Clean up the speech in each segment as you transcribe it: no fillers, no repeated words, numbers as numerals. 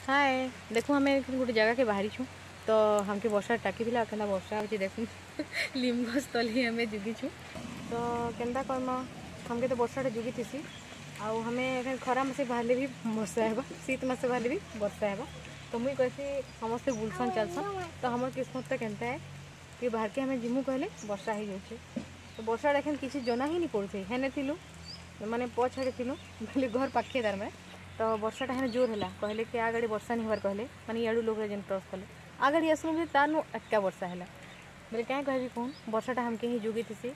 ହାଏ ଦେଖୁ ଆମେ ଗୋଟେ ଜାଗାକେ ବାହାରିଛୁ ତ ଆମକେ ବର୍ଷା ଟାକିଥିଲା କେନ୍ତା ବର୍ଷା ହେଉଛି ଦେଖୁନ୍ ଲିମ୍ ଗଛ ତଲେ ଆମେ ଜୁଗିଛୁ ତ କେନ୍ତା କର୍ମା ଆମକେ ତ ବର୍ଷାଟା ଜୁଗିଥିସି ଆଉ ଆମେ ଖରା ମାସେ ବାହାରିଲେ ବି ବର୍ଷା ହେବା ଶୀତ ମାସେ ବାହାରିଲେ ବି ବର୍ଷା ହେବା ତ ମୁଇଁ କହେସି ସମସ୍ତେ ବୁଲସନ୍ ଚାଲସନ୍ ତ ଆମର କିସ୍ମତଟା କେନ୍ତା ହେ କି ବାହାରକେ ଆମେ ଯିମୁ କହିଲେ ବର୍ଷା ହେଇଯାଉଛେ ତ ବର୍ଷାଟା ଏଖେନ୍ କିଛି ଜନା ହିଁ ନି ପଡ଼ୁଛେ ହେନେ ଥିଲୁ ମାନେ ପଛ ଆଡ଼େ ଥିଲୁ ବୋଇଲେ ଘର ପାଖେ ତାର ମାନେ ତ ବର୍ଷାଟା ହେନେ ଜୋର ହେଲା କହିଲେ କି ଆଗାଡ଼ି ବର୍ଷା ନି ହେବାର କହିଲେ ମାନେ ଇଆଡ଼ୁ ଲୋକ ଯେନ୍ କ୍ରସ୍ କଲେ ଆଗାଡ଼ି ଆସିଲୁ ଯେ ତାନୁ ଏକା ବର୍ଷା ହେଲା ବୋଲେ କାଁ କହିବି କହୁନ୍ ବର୍ଷାଟା ଆମକେ ହିଁ ଜୁଗିଥିସି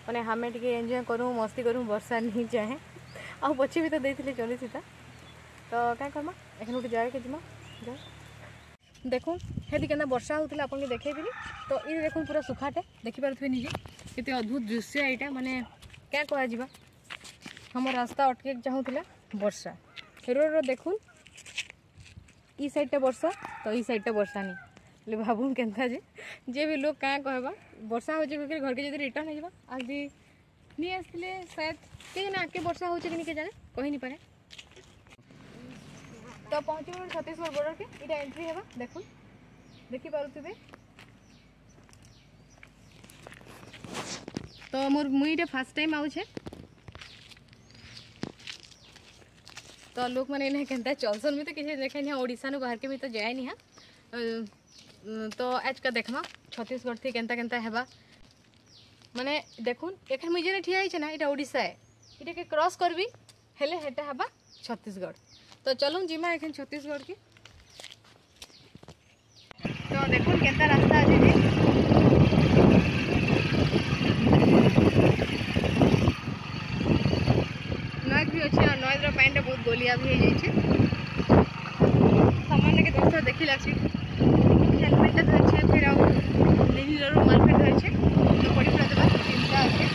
ମାନେ ଆମେ ଟିକେ ଏନ୍ଜୟ କରୁ ମସ୍ତି କରୁ ବର୍ଷା ନି ଚାହେଁ ଆଉ ପଛେ ବି ତ ଦେଇଥିଲେ ଚଲିଥିତା ତ କାଁ କର୍ମା ଏଖେନ୍ ଗୋଟେ ଜାଗାକେ ଯିମା ଯା ଦେଖୁନ୍ ହେଠି କେନ୍ତା ବର୍ଷା ହେଉଥିଲା ଆପଣଙ୍କୁ ଦେଖେଇଥିଲି ତ ଇ ଦେଖୁନ୍ ପୁରା ସୁଖାଟେ ଦେଖିପାରୁଥିବେ ନିଜେ କେତେ ଅଦ୍ଭୁତ ଦୃଶ୍ୟ ଏଇଟା ମାନେ କାଁ କୁହାଯିବା ଆମ ରାସ୍ତା ଅଟକେଇକି ଚାହୁଁଥିଲା ବର୍ଷା ରୋଡ଼ର ଦେଖୁନ୍ ଇ ସାଇଡ଼୍ଟା ବର୍ଷା ତ ଇ ସାଇଡ଼୍ଟା ବର୍ଷା ନି ବୋଲେ ଭାବୁନ୍ କେନ୍ତା ଯେ ଯେ ବି ଲୋକ କାଁ କହେବା ବର୍ଷା ହଉଛେ କହିକି ଘରକେ ଯଦି ରିଟର୍ନ ହେଇଯିବା ଆଜି ନି ଆସିଥିଲେ ସାୟଦ କେ ଜାନେ ଆଗକେ ବର୍ଷା ହଉଛେ କି ନି କେ ଜାନେ କହି ନି ପାରେ ତ ପହଞ୍ଚିଗଲୁ ଛତିଶଗଡ଼ ବର୍ଡରକେ ଏଇଟା ଏଣ୍ଟ୍ରି ହେବା ଦେଖୁନ୍ ଦେଖିପାରୁଥିବେ ତ ମୋର୍ ମୁଇଁ ଏଇଟା ଫାର୍ଷ୍ଟ ଟାଇମ୍ ଆଉଛେ ତ ଲୋକମାନେ ଏଇନା କେନ୍ତା ଚଲସନ୍ ମୁଇଁ ତ କିଛି ଦେଖେନି ଓଡ଼ିଶାନୁ ବାହାରକେ ମୁଇଁ ତ ଯାଏନି ହଁ ତ ଆଜକା ଦେଖ୍ମା ଛତିଶଗଡ଼ ଥି କେନ୍ତା କେନ୍ତା ହେବା ମାନେ ଦେଖୁନ୍ ଏখানে ମୁଇଁ ଯେନେ ଠିଆ ହେଇଛେ ନା ଏଇଟା ଓଡ଼ିଶା ଏ ଏଟାକେ କ୍ରସ୍ କରବି ହେଲେ ହେଟା ହେବା ଛତିଶଗଡ଼ ତ ଚଲୁନ୍ ଯିମା ଏଖେନ୍ ଛତିଶଗଡ଼କେ ତ ଦେଖୁନ୍ କେନ୍ତା ରାସ୍ତା ଅଛି ଯେ ନଏଜ୍ ବି ଅଛି ଆଉ ନଏଜ୍ର ପାଣିଟା ବହୁତ ଗୋଲିଆ ବି ହେଇଯାଇଛି ସାମାନ୍ୟକେ ଦଶ ଦେଖି ଲାଗ୍ସି ହେଲମେଟ୍ଟା ଧରିଛେ ଫେର୍ ଆଉ ନିଜର ରୁମାଲ୍ ଫେର୍ ଧରିଛେ ତ ପଡ଼ି ପୁରା ଦେବା ଚିନ୍ତା ଅଛେ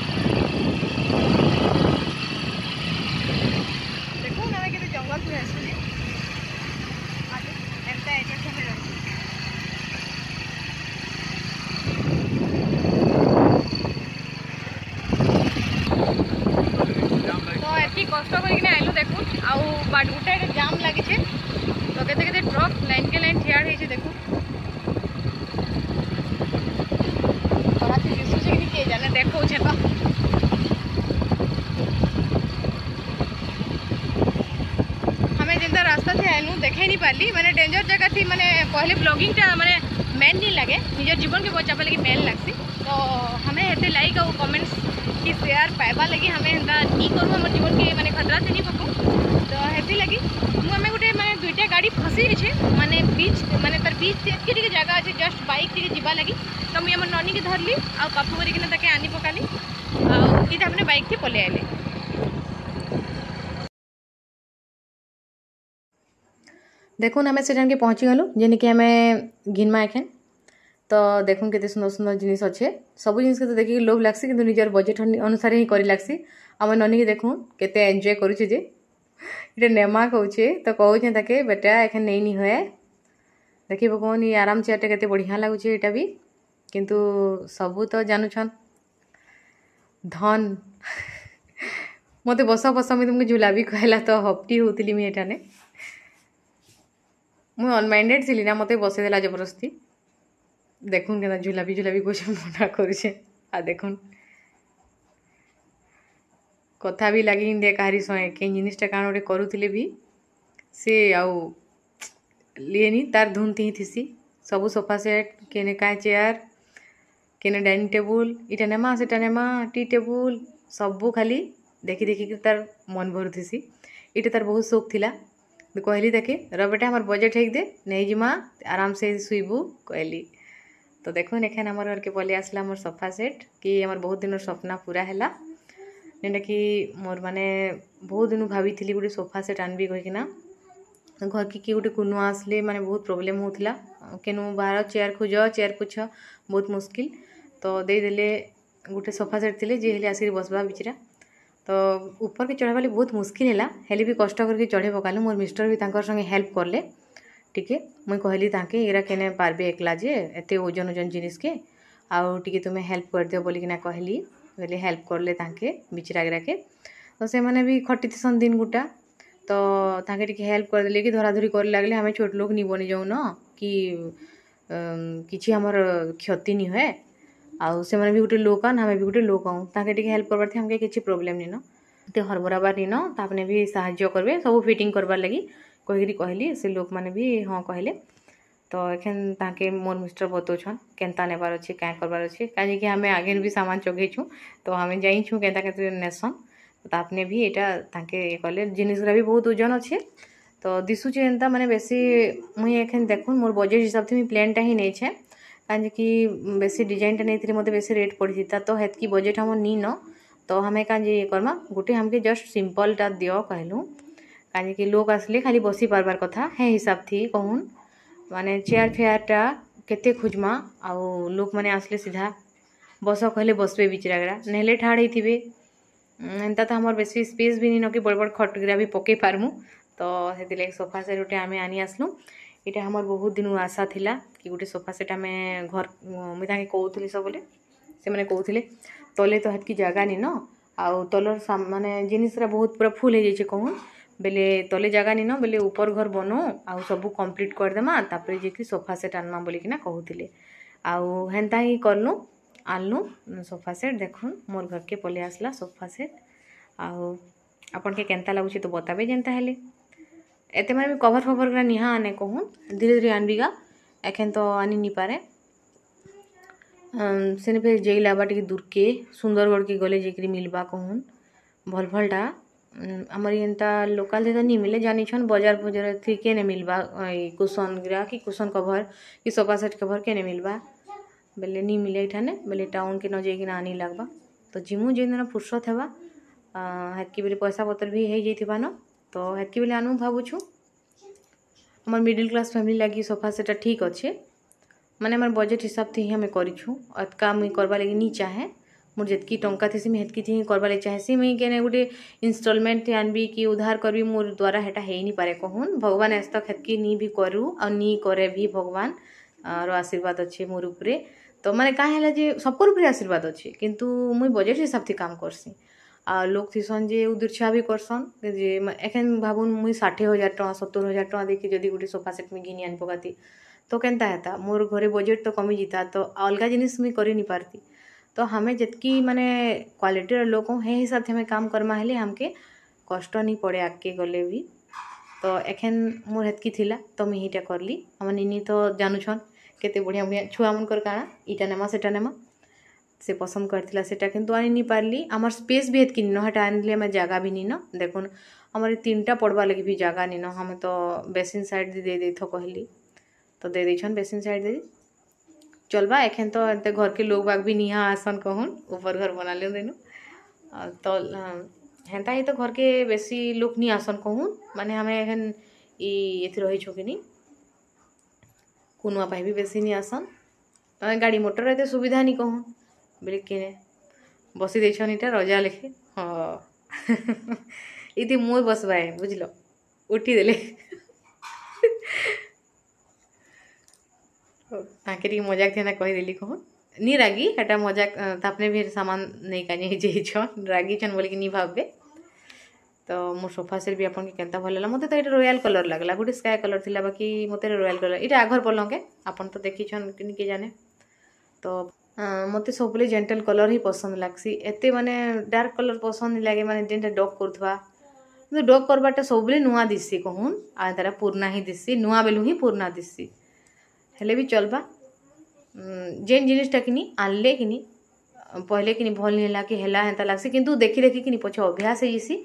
ଦେଖୁନ୍ ଆମେ କେତେ ଜଙ୍ଗଲ ପୁରା ଆସିଛେ ଏନ୍ତା ଏରିଆ ଆମେ ରହିଛୁ ତ ଏତ୍କି କଷ୍ଟ କରିକିନା ଆଇଲୁ ଦେଖୁନ୍ ଆଉ ବାଟ ଗୁଟେ ଏଠି ଜାମ୍ ଲାଗିଛେ ତ କେତେ କେତେ ଟ୍ରକ୍ ଲାଇନ୍ କେ ଲାଇନ୍ ଠିଆ ହେଇছে ଦେଖୁନ୍ ଖରାପ ଦିଶୁଛେ କି କେ ଜାନେ ଦେଖଉଛେ ତ ଆମେ ଯେନ୍ତା ରାସ୍ତା ଥି ଆଇଲୁ ଦେଖେଇ ନି ପାରିଲି ମାନେ ଡେଞ୍ଜର ଜାଗା ଥି ମାନେ ପହଲେ ବ୍ଲଗିଂଟା ମାନେ ମେନ୍ ନି ଲାଗେ ନିଜର ଜୀବନକେ ବଞ୍ଚାବା ଲାଗି ମେନ୍ ଲାଗ୍ସି ତ ଆମେ ହେତେ ଲାଇକ୍ ଆଉ କମେଣ୍ଟସ୍ କି ସେୟାର ପାଇବା ଲାଗି ଆମେ ହେନ୍ତା ନି କରୁ ଆମର ଜୀବନକେ ମାନେ ଖତରା ଥି ନି ପକାଉ ତ ହେଥି ଲାଗି ମୁଁ ଆମେ ଗୋଟେ ମାନେ ଦୁଇଟା ଗାଡ଼ି ଫସି ଯାଇଛେ ମାନେ ବିଚ୍ ମାନେ ତାର ବିଚ୍ ଏତ୍କି ଟିକେ ଜାଗା ଅଛି ଜଷ୍ଟ ବାଇକ୍ ଟିକେ ଯିବା ଲାଗି ତ ମୁଇଁ ଆମର ନନୀକେ ଧରଲି ଆଉ କାବୁ କରିକିନା ତାକେ ଆନି ପକାଲି ଆଉ ଇଟା ମାନେ ବାଇକ୍ ଥି ପଲେଇ ଆଇଲେ। ଦେଖୁନ୍ ଆମେ ସେଠାନ୍କେ ପହଞ୍ଚିଗଲୁ ଯେନିକି ଆମେ ଘିନ୍ମା ଏଖେନ୍ ତ ଦେଖୁନ୍ କେତେ ସୁନ୍ଦର ସୁନ୍ଦର ଜିନିଷ ଅଛେ ସବୁ ଜିନିଷକେ ତ ଦେଖିକି ଲୋଭ ଲାଗ୍ସି କିନ୍ତୁ ନିଜର ବଜେଟ୍ ଅନୁସାରେ ହିଁ କରି ଲାଗ୍ସି। ଆମ ନନୀକେ ଦେଖୁନ୍ କେତେ ଏନ୍ଜୟ କରୁଛେ ଯେ ଏଇଟା ନେମା କହୁଛେ ତ କହୁଛେ ତାକେ ବେଟା ଏଖେନ୍ ନେଇନି ହୁଏ ଦେଖି ପକଉନ୍ ଇ ଆରାମ ଚେୟାରଟା କେତେ ବଢ଼ିଆ ଲାଗୁଛେ ଏଇଟା ବି କିନ୍ତୁ ସବୁ ତ ଜାନୁଛନ୍ ଧନ୍ ମତେ ବସ ବସ ମୁଇଁ ତୁମକୁ ଝୁଲାବି କହିଲା ତ ହପଟି ହଉଥିଲି ମୁଇଁ ଏଠାନେ ମୁଇଁ ଅନମାଇଣ୍ଡେଡ଼ ଥିଲି ନା ମତେ ବସେଇଦେଲା ଜବରଦସ୍ତି। ଦେଖୁନ୍ କେନ୍ତା ଝୁଲାବି ଝୁଲାବି କହୁଛେ ମନା କରୁଛେ ଆଉ ଦେଖୁନ୍ କଥା ବି ଲାଗି ଦେ କାହାରି ସଙ୍ଗେ କେନ୍ ଜିନିଷଟା କାଣା ଗୋଟେ କରୁଥିଲେ ବି ସେ ଆଉ ଲିଏନି ତାର ଧୁନ୍ ଥି ଥିସି ସବୁ ସୋଫା ସେଟ୍ କେନେ କାଁ ଚେୟାର କେନେ ଡାଇନିଂ ଟେବୁଲ୍ ଇଟା ନେମା ସେଟା ନେମା ଟି ଟେବୁଲ୍ ସବୁ ଖାଲି ଦେଖି ଦେଖିକି ତାର ମନ ଭରୁଥିସି। ଏଇଟା ତାର ବହୁତ ସଉକ ଥିଲା କହିଲି ତାକେ ର ବେଟା ଆମର ବଜେଟ୍ ହେଇକି ଦେ ନେଇଯିମା ଆରାମସେ ଶୁଇବୁ କହିଲି। ତ ଦେଖୁନ୍ ଏଖେନ୍ ଆମର ଘରକେ ପଲେଇ ଆସିଲା ମୋର ସୋଫା ସେଟ୍ କି ଆମର ବହୁତ ଦିନର ସ୍ୱପ୍ନ ପୁରା ହେଲା ଯେନ୍ଟାକି ମୋର୍ ମାନେ ବହୁତ ଦିନୁ ଭାବିଥିଲି ଗୋଟେ ସୋଫା ସେଟ୍ ଆନବି କହିକିନା ଘରକେ କିଏ ଗୋଟେ କୁନୁଆ ଆସିଲେ ମାନେ ବହୁତ ପ୍ରୋବ୍ଲେମ୍ ହେଉଥିଲା କେନୁ ବାହାର ଚେୟାର ଖୋଜ ଚେୟାର ପୋଛ ବହୁତ ମୁସ୍କିଲ ତ ଦେଇଦେଲେ ଗୋଟେ ସୋଫା ସେଟ୍ ଥିଲେ ଯିଏ ହେଲେ ଆସିକି ବସବା ବିଚରା ତ ଉପରକେ ଚଢ଼ବା ଲାଗି ବହୁତ ମୁସ୍କିଲ ହେଲା ହେଲେ ବି କଷ୍ଟ କରିକି ଚଢ଼େଇ ପକାଲୁ। ମୋର୍ ମିଷ୍ଟର ବି ତାଙ୍କର ସଙ୍ଗେ ହେଲ୍ପ କଲେ ଟିକେ ମୁଇଁ କହିଲି ତାଙ୍କେ ଏଇରା କେନେ ପାରବେ ଏକଲା ଯେ ଏତେ ଓଜନ ଓଜନ ଜିନିଷକେ ଆଉ ଟିକେ ତୁମେ ହେଲ୍ପ କରିଦିଅ ବୋଲିକିନା କହିଲି ବୋଇଲେ ହେଲ୍ପ କଲେ ତାଙ୍କେ ବିଚରାଗିରାକେ ତ ସେମାନେ ବି ଖଟିଥିସନ୍ ଦିନ ଗୁଟା ତ ତ ତାଙ୍କେ ଟିକେ ହେଲ୍ପ କରିଦେଲେ କି ଧରା ଧରି କରି ଲାଗଲେ ଆମେ ଛୋଟ ଲୋକ ନି ବନି ଯାଉନ କି କିଛି ଆମର କ୍ଷତି ନି ହୁଏ। ଆଉ ସେମାନେ ବି ଗୋଟେ ଲୋକ ଆନ୍, ଆମେ ବି ଗୋଟେ ଲୋକ ଆଉଁ, ତାଙ୍କେ ଟିକେ ହେଲ୍ପ କରବାର ଆମକେ କିଛି ପ୍ରୋବ୍ଲେମ୍ ନିନ, ଏତେ ହରବରାବାର ନିନ। ତାପରେ ବି ସାହାଯ୍ୟ କରିବେ ସବୁ ଫିଟିଂ କରବାର୍ ଲାଗି କହିକିରି କହିଲି, ସେ ଲୋକମାନେ ବି ହଁ କହିଲେ। ତ ଏଖେନ୍ ତାଙ୍କେ ମୋର୍ ମିଷ୍ଟର ବତଉଛନ୍ କେନ୍ତା ନେବାର ଅଛି, କାଁ କରବାର ଅଛି, କାହିଁକି ଆମେ ଆଗେନ୍ ବି ସାମାନ ଚଗେଇଛୁଁ, ତ ଆମେ ଜାଣିଛୁଁ କେନ୍ତା କେତେ ନେସନ୍। ତାପରେ ବି ଏଇଟା ତାଙ୍କେ ଇଏ କଲେ, ଜିନିଷ୍ ବି ବହୁତ ଓଜନ ଅଛେ, ତ ଦିଶୁଛେ ଏନ୍ତା ମାନେ ବେଶୀ। ମୁଇଁ ଏଖେନ୍ ଦେଖୁନ୍ ମୋର୍ ବଜେଟ୍ ହିସାବ ମୁଇଁ ପ୍ଲେନ୍ଟା ହିଁ ନେଇଛେ, କାହିଁକି ବେଶୀ ଡିଜାଇନଟା ନେଇଥିଲେ ମୋତେ ବେଶୀ ରେଟ୍ ପଡ଼ିଥିତା, ତ ହେତ୍କି ବଜେଟ୍ ଆମର୍ ନିନ। ତ ଆମେ କାଁ ଯେ ଇଏ କର୍ମା, ଗୋଟେ ଆମକେ ଜଷ୍ଟ ସିମ୍ପଲ୍ଟା ଦିଅ କହିଲୁ, କାହିଁକି ଲୋକ୍ ଆସିଲେ ଖାଲି ବସି ପାରବାର୍ କଥା ହେ ହିସାବ ଥି କହୁନ୍। ମାନେ ଚେୟାର ଫେୟାରଟା କେତେ ଖୋଜ୍ମା, ଆଉ ଲୋକମାନେ ଆସିଲେ ସିଧା ବସ କହିଲେ ବସବେ ବିଚରାଗରା, ନେହେଲେ ଠାଡ଼ ହେଇଥିବେ। ଏନ୍ତା ତ ଆମର ବେଶୀ ସ୍ପେସ୍ ବି ନିନ କି ବଡ଼ ବଡ଼ ଖଟଗିରା ବି ପକେଇ ପାରମୁ। ତ ସେଥିଲାଗି ସୋଫା ସେଟ୍ ଗୋଟେ ଆମେ ଆନି ଆସିଲୁ। ଏଇଟା ଆମର ବହୁତ ଦିନୁ ଆଶା ଥିଲା କି ଗୋଟେ ସୋଫା ସେଟ୍ ଆମେ ଘର, ମୁଇଁ ତାଙ୍କେ କହୁଥିଲି ସବୁବେଳେ, ସେମାନେ କହୁଥିଲେ ତଲେ ତ ହେତ୍କି ଜାଗା ନିନ, ଆଉ ତଲର ମାନେ ଜିନିଷଟା ବହୁତ ପୁରା ଫୁଲ୍ ହେଇଯାଇଛେ କହୁନ୍, ବେଲେ ତଲେ ଜାଗା ନିନ, ବେଲେ ଉପର ଘର ବନଉ ଆଉ ସବୁ କମ୍ପ୍ଲିଟ୍ କରିଦେମା, ତାପରେ ଯାଇକି ସୋଫା ସେଟ୍ ଆନମା ବୋଲିକିନା କହୁଥିଲେ। ଆଉ ହେନ୍ତା ହିଁ କଲୁ, ଆନଲୁ ସୋଫା ସେଟ୍। ଦେଖୁନ୍ ମୋର୍ ଘରକେ ପଲେଇ ଆସିଲା ସୋଫା ସେଟ୍। ଆଉ ଆପଣକେ କେନ୍ତା ଲାଗୁଛି ତ ବତାବେ ଯେନ୍ତା ହେଲେ। ଏତେ ମାନେ କଭର ଫଭର ନିହା ଆନେ କହୁନ୍, ଧୀରେ ଧୀରେ ଆନବିଗା, ଏଖେନ୍ ତ ଆନି ନି ପାରେ। ସେନେ ଫେର୍ ଯାଇ ଲାଗ୍ବା ଟିକେ ଦୂରକେ, ସୁନ୍ଦରଗଡ଼କେ ଗଲେ ଯାଇକିରି ମିଲବା କହୁନ୍ ଭଲ୍ ଭଲ୍ଟା। ଆମର ଏନ୍ତା ଲୋକାଲ୍ ତ ନି ମିଲେ, ଜାନିଛନ୍ ବଜାର ଫଜାର ଥି କେନେ ମିଲବା ଏଇ କୁସନ୍ ଗିରା କି କୁସନ୍ କଭର କି ସୋଫା ସେଟ୍ କଭର କେନେ ମିଲବା ବେଲେ ନି ମିଲେ ଏଠାନେ, ବେଲେ ଟାଉନ୍କେ ନ ଯାଇକିନା ଆନି ଲାଗ୍ବା। ତ ଜିମୁ ଯେନ୍ ଦିନ ଫୁର୍ସତ ହେବା, ହେତ୍କି ବେଲେ ପଇସା ପତ୍ର ବି ହେଇଯାଇଥିବା ନ, ତ ହେତ୍କି ବେଲେ ଆନୁ ଭାବୁଛୁ। ଆମର ମିଡ଼ିଲ୍ କ୍ଲାସ୍ ଫ୍ୟାମିଲି ଲାଗି ସୋଫା ସେଟ୍ଟା ଠିକ୍ ଅଛେ, ମାନେ ଆମର ବଜେଟ୍ ହିସାବ ଥି ହିଁ ଆମେ କରିଛୁଁ। ଏତ୍କା ମୁଇଁ କରବା ଲାଗି ନି ଚାହେଁ, ମୋର୍ ଯେତ୍କି ଟଙ୍କା ଥିସି ମୁଇଁ ହେତ୍କି ଥି ହିଁ କରବା ଲାଗି ଚାହେଁସି। ମୁଇଁ କେନେ ଗୋଟେ ଇନଷ୍ଟଲମେଣ୍ଟ ଆନବି କି ଉଧାର କରିବି, ମୋର୍ ଦ୍ୱାରା ହେଟା ହେଇନି ପାରେ କହୁନ୍। ଭଗବାନ ଆଜ୍ ତକ୍ ହେତ୍କି ନି ବି କରୁ ଆଉ ନି କରେ ବି, ଭଗବାନ ର ଆଶୀର୍ବାଦ ଅଛି ମୋର୍ ଉପରେ। ତ ମାନେ କାଁ ହେଲା ଯେ ସବକର୍ ଉପରେ ଆଶୀର୍ବାଦ ଅଛି, କିନ୍ତୁ ମୁଇଁ ବଜେଟ୍ ହିସାବ ଥି କାମ କର୍ସି। ଆଉ ଲୋକ୍ ଥିସନ୍ ଯେ ଉଦୁର୍ଛା ବି କରସନ୍ ଯେ ଏଖେନ୍ ଭାବୁନ୍ ମୁଇଁ 60,000 ଟଙ୍କା 70,000 ଟଙ୍କା ଦେଇକି ଯଦି ଗୋଟେ ସୋଫା ସେଟ୍ ମୁଇଁ ଘିନି ଆନି ପକାତି ତ କେନ୍ତା ହେତା, ମୋର୍ ଘରେ ବଜେଟ୍ ତ କମିଯିତା, ତ ଅଲଗା ଜିନିଷ୍ ମୁଇଁ କରି ନି ପାରତି। ତ ଆମେ ଯେତ୍କି ମାନେ କ୍ୱାଲିଟିର ଲୋକ୍ ହେ ହିସାବ ଆମେ କାମ କର୍ମା ହେଲେ ଆମକେ କଷ୍ଟ ନି ପଡ଼େ ଆଗ୍କେ ଗଲେ ବି। ତ ଏଖେନ୍ ମୋର୍ ହେତ୍କି ଥିଲା ତ ମୁଇଁ ହେଇଟା କରଲି। ଆମର୍ ନିନି ତ ଜାନୁଛନ୍ କେତେ ବଢ଼ିଆ ବଢ଼ିଆ ଛୁଆମାନଙ୍କର କାଣା ଇଟା ନେମା ସେଟା ନେମା, ସେ ପସନ୍ଦ କରିଥିଲା ସେଟା, କିନ୍ତୁ ଆନି ନି ପାରଲି। ଆମର୍ ସ୍ପେସ୍ ବି ହେତ୍କି ନିନ, ହେଟା ଆଣିଲେ ଆମେ ଜାଗା ବି ନିନ। ଦେଖୁନ୍ ଆମର ତିନିଟା ପଡ଼ବା ଲାଗି ବି ଜାଗା ନିନ, ଆମେ ତ ବେସିନ୍ ସାଇଡ଼୍ ଦେଇ ଦେଇଥ କହିଲି ତ ଦେଇ ଦେଇଛନ୍ ବେସିନ୍ ସାଇଡ଼୍ ଦେଇ ଚଲବା। ଏଖେନ୍ ତ ଏତେ ଘରକେ ଲୋକ୍ ବାକ୍ ବି ନିହା ଆସନ୍ କହୁନ୍, ଉପର ଘର ବନାଲେ ଦେନୁ ତ ହେନ୍ତା ହିଁ ତ ଘରକେ ବେଶୀ ଲୋକ୍ ନି ଆସନ୍ କହୁନ୍, ମାନେ ଆମେ ଏଖେନ୍ ଇ ଏଥି ରହିଛୁ କିନି କୁନୁଆ ପାଇଁ ବି ବେଶୀ ନି ଆସନ୍, ଗାଡ଼ି ମଟର ଏତେ ସୁବିଧା ନି କହୁନ୍। ବେଲେ କିନେ ବସି ଦେଇଛନ୍ ଇଟା ରଜା ଲେଖେ, ହଁ ଇତି ମୁଇଁ ବସବାଏ ବୁଝିଲ, ଉଠିଦେଲେ ତାଙ୍କେ ଟିକେ ମଜାକ ଥିନା କହିଦେଲି କହୁନ୍, ନି ରାଗି ହେଟା ମଜାକ, ତାପରେ ବି ସାମାନ ନେଇକା ଯାଇଛନ୍, ରାଗିଛନ୍ ବୋଲିକି ନି ଭାବବେ। ତ ମୋର୍ ସୋଫା ସେଟ୍ ବି ଆପଣକେ କେନ୍ତା ଭଲ ଲାଗଲା? ମୋତେ ତ ଏଇଟା ରୟାଲ କଲର୍ ଲାଗଲା, ଗୋଟେ ସ୍କାଏ କଲର୍ ଥିଲା, ବାକି ମୋତେ ରୟାଲ କଲର୍। ଏଇଟା ଆଘର ପଲଙ୍କେ ଆପଣ ତ ଦେଖିଛନ୍ କି ନି କିଏ ଜାନେ। ତ ମୋତେ ସବୁବେଳେ ଜେଣ୍ଟଲ୍ କଲର୍ ହିଁ ପସନ୍ଦ ଲାଗ୍ସି, ଏତେ ମାନେ ଡାର୍କ କଲର୍ ପସନ୍ଦ ନି ଲାଗେ, ମାନେ ଯେନ୍ଟା ଡକ୍ କରୁଥିବା। କିନ୍ତୁ ଡକ୍ କରବାରଟା ସବୁବେଳେ ନୂଆ ଦିଶି କହୁନ୍, ଆଉ ତାର ପୁରୁଣା ହିଁ ଦିଶି, ନୂଆ ବେଲୁ ହିଁ ପୁରୁଣା ଦିଶି, ହେଲେ ବି ଚଲବା। ଯେନ୍ ଜିନିଷଟା କିନି ଆନଲେ କିନି ପହଲେ କିନି ଭଲ୍ ନି ହେଲା କି ହେଲା ହେନ୍ତା ଲାଗ୍ସି, କିନ୍ତୁ ଦେଖି ଦେଖିକିନି ପଛେ ଅଭ୍ୟାସ ହେଇଯିସି,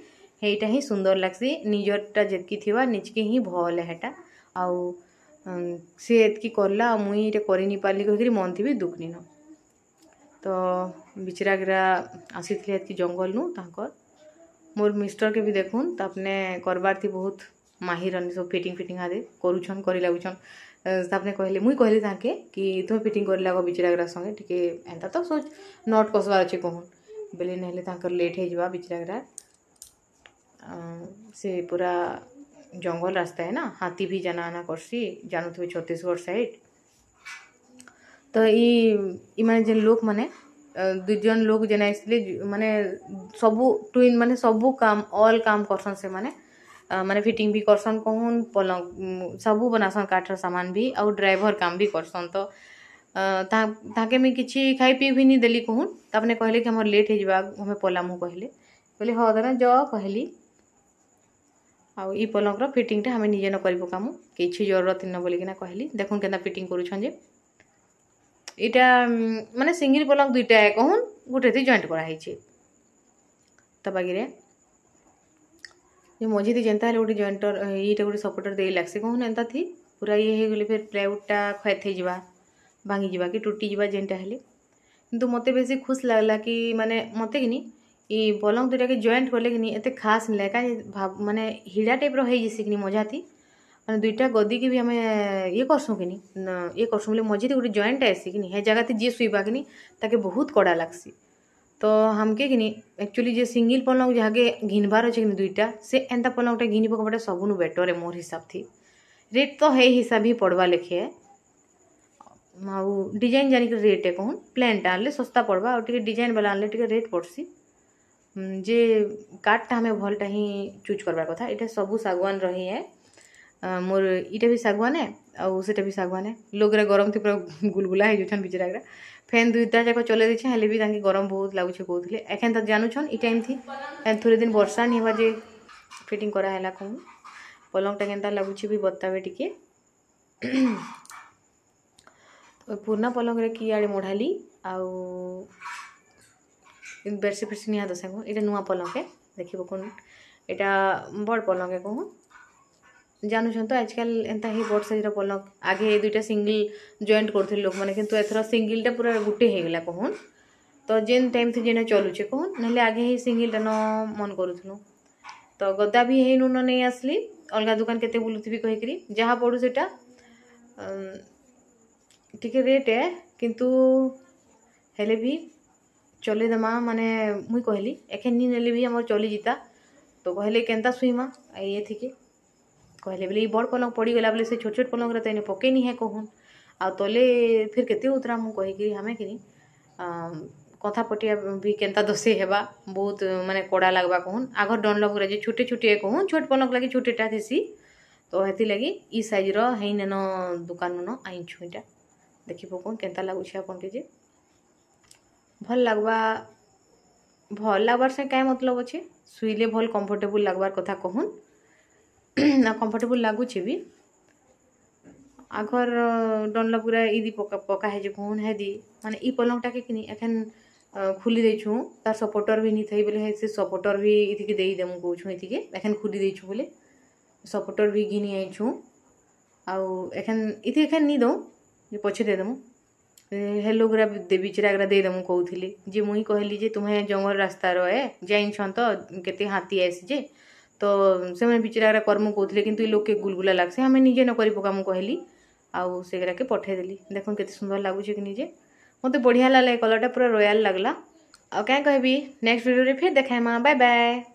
ହେଇଟା ହିଁ ସୁନ୍ଦର ଲାଗ୍ସି। ନିଜରଟା ଯେତ୍କି ଥିବା ନିଜକେ ହିଁ ଭଲ୍ ହେଟା। ଆଉ ସେ ଏତ୍କି କଲା ଆଉ ମୁଇଁ ଏଇଟା କରି ନି ପାରିଲି କହିକିରି ମନ୍ ଥି ବି ଦୁଃଖ ନିନ। ତ ବିଚରାଗିରା ଆସିଥିଲେ ଏତ୍କି ଜଙ୍ଗଲନୁ ତାଙ୍କର୍ ମୋର୍ ମିଷ୍ଟର୍କେ ବି ଦେଖୁନ୍, ତାପରେ କରବାର୍ ଥି ବହୁତ ମାହିର ସବୁ ଫିଟିଂ ଫିଟିଂ ଆଦେ କରୁଛନ୍, କରି ଲାଗୁଛନ୍। ତାପରେ କହିଲେ, ମୁଇଁ କହିଲି ତାଙ୍କେ କି ତୁମେ ଫିଟିଂ କରି ଲାଗ ବିଚରାଗିରା ସଙ୍ଗେ ଟିକେ, ଏନ୍ତା ତ ସୋଚ not କସବାର ଅଛି କହୁନ୍, ବେଲେ ନହେଲେ ତାଙ୍କର ଲେଟ୍ ହେଇଯିବା। ବିଚରାଗିରା ସେ ପୁରା ଜଙ୍ଗଲ ରାସ୍ତା ହେ ନା, ହାତୀ ବି ଜାନା ଆନା କରସି, ଜାନୁଥିବେ ଛତିଶଗଡ଼ ସାଇଡ଼୍। ତ ଇ ଇମାନେ ଯେନ୍ ଲୋକମାନେ ଦୁଇ ଜଣ ଲୋକ ଯେନ୍ ଆସିଥିଲେ, ମାନେ ସବୁ ଟୁଇନ୍, ମାନେ ସବୁ କାମ ଅଲ୍ କାମ କରସନ୍ ସେମାନେ। ମାନେ ଫିଟିଂ ବି କରସନ୍ କହୁନ୍, ପଲଙ୍କ ସବୁ ବନାସନ୍, କାଠର ସାମାନ ବି, ଆଉ ଡ୍ରାଇଭର କାମ ବି କରସନ୍। ତ ତାଙ୍କେ ମୁଇଁ କିଛି ଖାଇ ପିଇ ବି ନି ଦେଲି କହୁନ୍। ତାପରେ କହିଲେ କି ଆମର ଲେଟ୍ ହେଇଯିବା, ଆମେ ପଲାମୁ କହିଲେ। କହିଲି ହଉ ତମେ ଯ କହିଲି। ଆଉ ଇ ପଲଙ୍କର ଫିଟିଂଟା ଆମେ ନିଜେ ନ କରି ପକାମୁ, କିଛି ଜରୁରତ ନ ବୋଲିକିନା କହିଲି। ଦେଖୁନ୍ କେନ୍ତା ଫିଟିଂ କରୁଛନ୍ ଯେ। ଏଇଟା ମାନେ ସିଙ୍ଗିଲ୍ ପଲଙ୍କ ଦୁଇଟା କହୁନ୍, ଗୋଟେ ଜଏଣ୍ଟ କରାହେଇଛି। ତା ବାଗିରେ ଯେ ମଝିରେ ଯେନ୍ତା ହେଲେ ଗୋଟେ ଜଏଣ୍ଟର, ଏଇଟା ଗୋଟେ ସପୋର୍ଟର ଦେଇ ଲାଗ୍ସି କହୁନ୍। ଏନ୍ତା ଥି ପୁରା ଇଏ ହେଇଗଲେ ଫେର୍ ପ୍ଲାଇଉଡ଼ଟା କ୍ଷତ ହେଇଯିବା, ଭାଙ୍ଗିଯିବା କି ଟୁଟିଯିବା ଯେନ୍ଟା ହେଲେ। କିନ୍ତୁ ମୋତେ ବେଶୀ ଖୁସି ଲାଗଲା କି ମାନେ ମୋତେ କିନି ଇ ପଲଙ୍କ ଦୁଇଟାକେ ଜଏଣ୍ଟ କଲେ କିନି ଏତେ ଖାସ୍ ନି ଲାଗେ। କାଁ ମାନେ ହିଡ଼ା ଟାଇପ୍ର ହେଇଯିସି କିନି ମଝାଥି, ମାନେ ଦୁଇଟା ଗଦିକି ବି ଆମେ ଇଏ କରସୁଁ କିନି, ଇଏ କରସୁଁ ବୋଲେ ମଝିରେ ଗୋଟେ ଜଏଣ୍ଟ ଆଏସି କିନି, ହେ ଜାଗାତେ ଯିଏ ଶୁଇବା କିନି ତାକେ ବହୁତ କଡ଼ା ଲାଗ୍ସି। ତ ଆମକେ କିନି ଆକ୍ଚୁଆଲି ଯେ ସିଙ୍ଗିଲ୍ ପଲଙ୍କ ଯାହାକେ ଘିନବାର ଅଛେ କିନି ଦୁଇଟା, ସେ ଏନ୍ତା ପଲଙ୍କଟା ଘିନି ପକାବାଟା ସବୁନୁ ବେଟର୍ ଏ ମୋର୍ ହିସାବ ଥି। ରେଟ୍ ତ ହେଇ ହିସାବ ହିଁ ପଡ଼ବା ଲେଖେ, ଆଉ ଡିଜାଇନ୍ ଜାନିକରି ରେଟ୍ କହୁନ୍। ପ୍ଲେନ୍ଟା ଆଣିଲେ ଶସ୍ତା ପଡ଼ବା, ଆଉ ଟିକେ ଡିଜାଇନ୍ ବାଲା ଆଣିଲେ ଟିକେ ରେଟ୍ ପଡ଼୍ସି। ଯେ କାଠଟା ଆମେ ଭଲଟା ହିଁ ଚୁଜ୍ କରବାର କଥା। ଏଇଟା ସବୁ ଶାଗୁଆନର ହିଁ ଏ, ମୋର୍ ଇଟା ବି ଶାଗୁଆନ ଏ ଆଉ ସେଟା ବି ଶାଗୁଆନ ଏ। ଲୋକ୍ରେ ଗରମ ଥି ପୁରା ଗୁଲଗୁଲା ହେଇଯାଉଛନ୍ ବିଚରାଗୁରା। ଫ୍ୟାନ୍ ଦୁଇଟା ଯାକ ଚଲେଇ ଦେଇଛେ, ହେଲେ ବି ତାଙ୍କେ ଗରମ ବହୁତ ଲାଗୁଛେ କହୁଥିଲେ। ଏଖେନ୍ ତ ଜାନୁଛନ୍ ଇ ଟାଇମ୍ ଥି ଥୋଡ଼େ ଦିନ ବର୍ଷା ନି ହେବା ଯେ ଫିଟିଂ କରାହେଲା କହୁନ୍। ପଲଙ୍କଟା କେନ୍ତା ଲାଗୁଛି ବି ବତାବେ ଟିକେ। ପୁରୁଣା ପଲଙ୍କରେ କି ଆଡ଼େ ମଢ଼ାଲି ଆଉ ବେଡ଼ସିଟ୍ ଫେଡ଼ସିଟ୍ ନିହା ଦଶା। ଏଇଟା ନୂଆ ପଲଙ୍କ ଦେଖିବ କହୁନ୍, ଏଇଟା ବଡ଼ ପଲଙ୍କ କହୁନ୍। ଜାନୁଛନ୍ ତ ଆଜକାଲ ଏନ୍ତା ହିଁ ବଡ଼ ସାଇଜ୍ର ପଲଙ୍କ। ଆଗେ ଏ ଦୁଇଟା ସିଙ୍ଗିଲ୍ ଜଏଣ୍ଟ କରୁଥିଲେ ଲୋକମାନେ, କିନ୍ତୁ ଏଥର ସିଙ୍ଗିଲ୍ଟା ପୁରା ଗୁଟେ ହେଇଗଲା କହୁନ୍। ତ ଯେନ୍ ଟାଇମ୍ ଥି ଯେନେ ଚଲୁଛେ କହୁନ୍, ନହେଲେ ଆଗେ ହିଁ ସିଙ୍ଗିଲ୍ଟା ନ ମନ କରୁଥିଲୁ। ତ ଗଦା ବି ହେଇନୁ ନ ନେଇ ଆସିଲି, ଅଲଗା ଦୋକାନ କେତେ ବୁଲୁଥିବି କହିକିରି। ଯାହା ପଡ଼ୁ ସେଟା ଟିକେ ରେଟ୍ ଏ, କିନ୍ତୁ ହେଲେ ବି ଚଲେଇଦେମା। ମାନେ ମୁଇଁ କହିଲି ଏଖେନ୍ ନି ନେଲେ ବି ଆମର ଚଲିଯିତା। ତ କହିଲେ କେନ୍ତା ଶୁଇମା ଏଥିକେ କହିଲେ ବୋଲେ, ଇ ବଡ଼ ପଲଙ୍କ ପଡ଼ିଗଲା ବୋଲେ ସେ ଛୋଟ ଛୋଟ ପଲଙ୍କରେ ତ ଏନେ ପକେଇ ନି ହେ କହୁନ୍, ଆଉ ତଲେ ଫିର୍ କେତେ ଉତରା ମୁଁ କହିକିରି ଆମେ କିନି କନ୍ଥା ପଟିଆ ବି କେନ୍ତା ଦଶେଇ ହେବା, ବହୁତ ମାନେ କଡ଼ା ଲାଗ୍ବା କହୁନ୍। ଆଘର ଡନଲପ୍ରେ ଯେ ଛୋଟେ ଛୋଟିଆ କହୁନ୍, ଛୋଟ ପଲଙ୍କ ଲାଗି ଛୋଟଟା ଥିସି। ତ ହେଥିଲାଗି ଇ ସାଇଜ୍ର ହେଇନେନ ଦୋକାନନ ଆଣିଛୁ। ଏଇଟା ଦେଖି ପକଉନ୍ କେନ୍ତା ଲାଗୁଛେ ଆପଣକେ ଯେ। ଭଲ୍ ଲାଗ୍ବା, ଭଲ୍ ଲାଗ୍ବାର୍ ସେ କାଇଁ ମତଲବ ଅଛେ, ଶୁଇଲେ ଭଲ୍ କମ୍ଫର୍ଟେବୁଲ୍ ଲାଗ୍ବାର୍ କଥା କହୁନ୍, ଆଉ କମ୍ଫର୍ଟେବୁଲ୍ ଲାଗୁଛେ ବି। ଆଘର ଡନଲପ୍ ଗୁରା ଇଦି ପକା ପକା ହେଇଛେ କହୁନ୍ ହେଦି। ମାନେ ଇ ପଲଙ୍କଟାକେ କିନି ଏଖେନ୍ ଖୁଲି ଦେଇଛୁଁ, ତାର୍ ସପୋର୍ଟର୍ ବି ନି ଥାଇ ବୋଲେ ସେ ସପୋର୍ଟର୍ ବି ଇଥିକେ ଦେଇଦେମୁ କହୁଛୁଁ। ଏଥିକେ ଏଖେନ୍ ଖୁଲି ଦେଇଛୁଁ ବୋଲେ ସପୋର୍ଟର୍ ବି ଘିନି ଆଇଛୁଁ, ଆଉ ଏଖେନ୍ ଇଥି ଏଖେନ୍ ନି ଦଉଁ ଯେ ପଛେ ଦେଇଦେମୁ। ହେଲୋ ଗୁରା ବିଚରା ଦେଇଦେମୁ କହୁଥିଲି ଯେ, ମୁଇଁ କହିଲି ଯେ ତୁମେ ଜଙ୍ଗଲ ରାସ୍ତାର ଏ ଜାଇଛନ୍ ତ କେତେ ହାତୀ ଆଏସି ଯେ, ତ ସେମାନେ ବିଚରା କର୍ମୁ କହୁଥିଲେ, କିନ୍ତୁ ଇ ଲୋକ୍କେ ଗୁଲଗୁଲା ଲାଗ୍ସି, ଆମେ ନିଜେ ନ କରି ପକାମୁ କହିଲି, ଆଉ ସେଗୁଡ଼ାକେ ପଠେଇଦେଲି। ଦେଖୁନ୍ କେତେ ସୁନ୍ଦର ଲାଗୁଛେ କି ନିଜେ, ମୋତେ ବଢ଼ିଆ ଲାଗଲା। ଏ କଲର୍ଟା ପୁରା ରୟାଲ୍ ଲାଗଲା। ଆଉ କାଁ କହିବି, ନେକ୍ସଟ ଭିଡ଼ିଓରେ ଫେର୍ ଦେଖାଇମା। Bye bye.